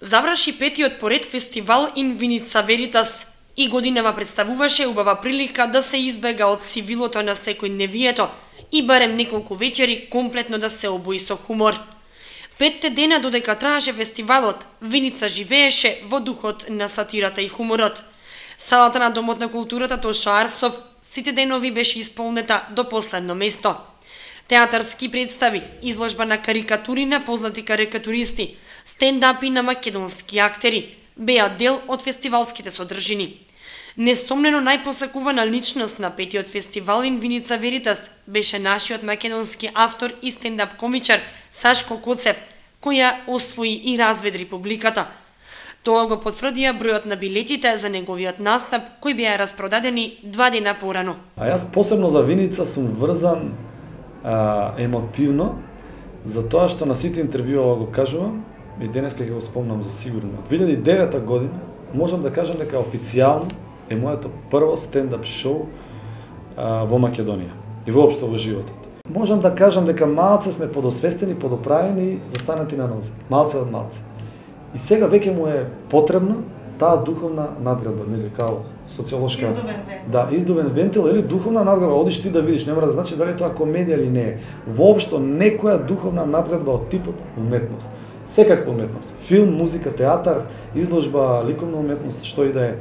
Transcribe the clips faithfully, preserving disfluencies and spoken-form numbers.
Заврши петиот поред фестивал In Vinica Veritas и годинава представуваше убава прилика да се избега од сивилото на секојдневието и барем неколку вечери комплетно да се обои со хумор. Петте дена додека траеше фестивалот, Виница живееше во духот на сатирата и хуморот. Салата на Домот на културата Тоша Арсов сите денови беше исполнета до последно место. Театарски представи, изложба на карикатури на познати карикатуристи, стендапи на македонски актери беа дел од фестивалските содржини. Несомнено најпосакувана личност на петиот фестивал In Vinica Veritas беше нашиот македонски автор и стендап комичар Сашко Коцев, која освои и разведри публиката. Тоа го потврдија бројот на билетите за неговиот настап, кои беа распродадени два дена порано. А јас посебно за Виница сум врзан а, емотивно, за тоа што на сите интервјуа го кажувам, и денеска ќе го спомнам за сигурно. Од две илјади и девета година можам да кажам дека официјално е моето прво стендап шоу а, во Македонија и воопшто во животот. Можам да кажам дека малце сме подосвестени, подоправени и застанати на нозе. Малце од малце. И сега веќе му е потребно таа духовна надградба, нели као социолошка. Издувен вентил. Да, издувен вентил или духовна надградба, одиш ти да видиш, нема да значи дали тоа комедија или не е. Воопшто некоја духовна надградба од типот уметност. Секаква уметност. Филм, музика, театар, изложба, ликовна уметност, што и да е.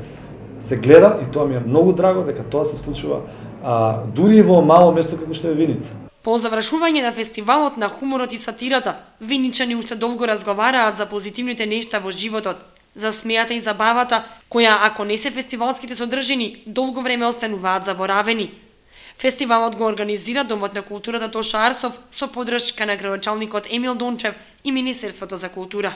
Се гледа и тоа ми е многу драго дека тоа се случува а, дури во мало место како што е Виница. По завршување на фестивалот на хуморот и сатирата, виничани уште долго разговараат за позитивните нешта во животот, за смејата и забавата, која ако не се фестивалските содржини, долго време остануваат заборавени. Фестивалот го организира Домот на културата Тоша Арсов со поддршка на градоначалникот Емил Дончев и Министерството за култура.